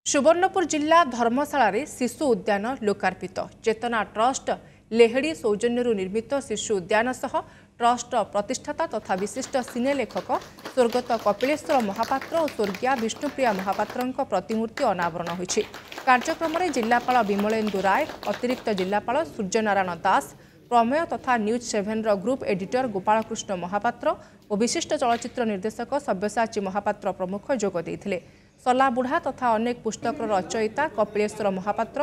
ସୁବର୍ଣ୍ଣପୁର ଜିଲ୍ଲା ଧର୍ମଶାଳାରେ ଶିଶୁ ଉଦ୍ୟାନ ଲୋକାର୍ପିତ। ଚେତନା ଟ୍ରଷ୍ଟ ଲେହେଡ଼ି ସୌଜନ୍ୟରୁ ନିର୍ମିତ ଶିଶୁ ଉଦ୍ୟାନ ସହ ଟ୍ରଷ୍ଟର ପ୍ରତିଷ୍ଠାତା ତଥା ବିଶିଷ୍ଟ ସିନେ ଲେଖକ ସ୍ୱର୍ଗତ କପିଳେଶ୍ୱର ମହାପାତ୍ର ଓ ସ୍ୱର୍ଗୀୟା ବିଷ୍ଣୁପ୍ରିୟା ମହାପାତ୍ରଙ୍କ ପ୍ରତିମୂର୍ତ୍ତି ଅନାବରଣ ହୋଇଛି। କାର୍ଯ୍ୟକ୍ରମରେ ଜିଲ୍ଲାପାଳ ବିମଳେନ୍ଦୁ ରାୟ, ଅତିରିକ୍ତ ଜିଲ୍ଲାପାଳ ସୂର୍ଯ୍ୟନାରାୟଣ ଦାସ, ପ୍ରମେୟ ତଥା ନ୍ୟୁଜ୍ ସେଭେନର ଗ୍ରୁପ୍ ଏଡିଟର ଗୋପାଳକୃଷ୍ଣ ମହାପାତ୍ର ଓ ବିଶିଷ୍ଟ ଚଳଚ୍ଚିତ୍ର ନିର୍ଦ୍ଦେଶକ ସବ୍ୟସାଚୀ ମହାପାତ୍ର ପ୍ରମୁଖ ଯୋଗ ଦେଇଥିଲେ। ସଲାବୁଢ଼ା ତଥା ଅନେକ ପୁସ୍ତକର ରଚୟିତା କପିଳେଶ୍ୱର ମହାପାତ୍ର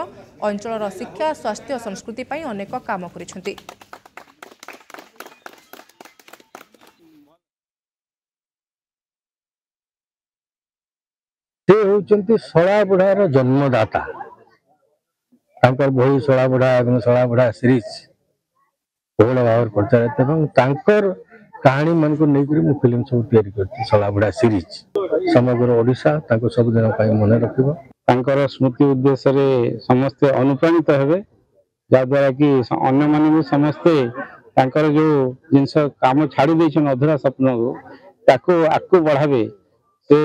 ଅଞ୍ଚଳର ଶିକ୍ଷା, ସ୍ୱାସ୍ଥ୍ୟ, ସଂସ୍କୃତି ପାଇଁ ଅନେକ କାମ କରିଛନ୍ତି। ସେ ହେଉଛନ୍ତି ଶଳାବୁଢ଼ାର ଜନ୍ମଦାତା। ତାଙ୍କର ବହି ଶଳାବୁଢ଼ା ଏବଂ ଶଳାବୁଢ଼ା ସିରିଜ ବହୁଳ ଭାବରେ ପ୍ରଚାରିତ ଏବଂ ତାଙ୍କର କାହାଣୀ ମାନଙ୍କୁ ନେଇକରି ମୁଁ ଫିଲ୍ମ ସବୁ ତିଆରି କରିଛି। ଶଳାବୁଢ଼ା ସିରିଜ ସମଗ୍ର ଓଡ଼ିଶା ତାଙ୍କୁ ସବୁଦିନ ପାଇଁ ମନେ ରଖିବ। ତାଙ୍କର ସ୍ମୃତି ଉଦ୍ଦେଶ୍ୟରେ ସମସ୍ତେ ଅନୁପ୍ରାଣିତ ହେବେ, ଯାହାଦ୍ୱାରା କି ଅନ୍ୟମାନେ ବି ସମସ୍ତେ ତାଙ୍କର ଯୋଉ ଜିନିଷ କାମ ଛାଡ଼ି ଦେଇଛନ୍ତି ଅଧୁରା ସ୍ୱପ୍ନକୁ, ତାକୁ ଆଗକୁ ବଢ଼ାବେ। ସେ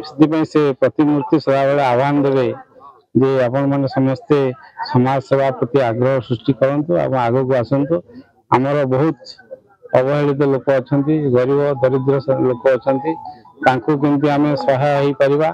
ସେଥିପାଇଁ ସେ ପ୍ରତିମୂର୍ତ୍ତି ସଦାବେଳେ ଆହ୍ୱାନ ଦେବେ ଯେ ଆପଣମାନେ ସମସ୍ତେ ସମାଜ ସେବା ପ୍ରତି ଆଗ୍ରହ ସୃଷ୍ଟି କରନ୍ତୁ ଏବଂ ଆଗକୁ ଆସନ୍ତୁ। ଆମର ବହୁତ ଅବହେଳିତ ଲୋକ ଅଛନ୍ତି, ଗରିବ ଦରିଦ୍ର ଲୋକ ଅଛନ୍ତି, ତାଙ୍କୁ କେମିତି ଆମେ ସହାୟ ହେଇପାରିବା।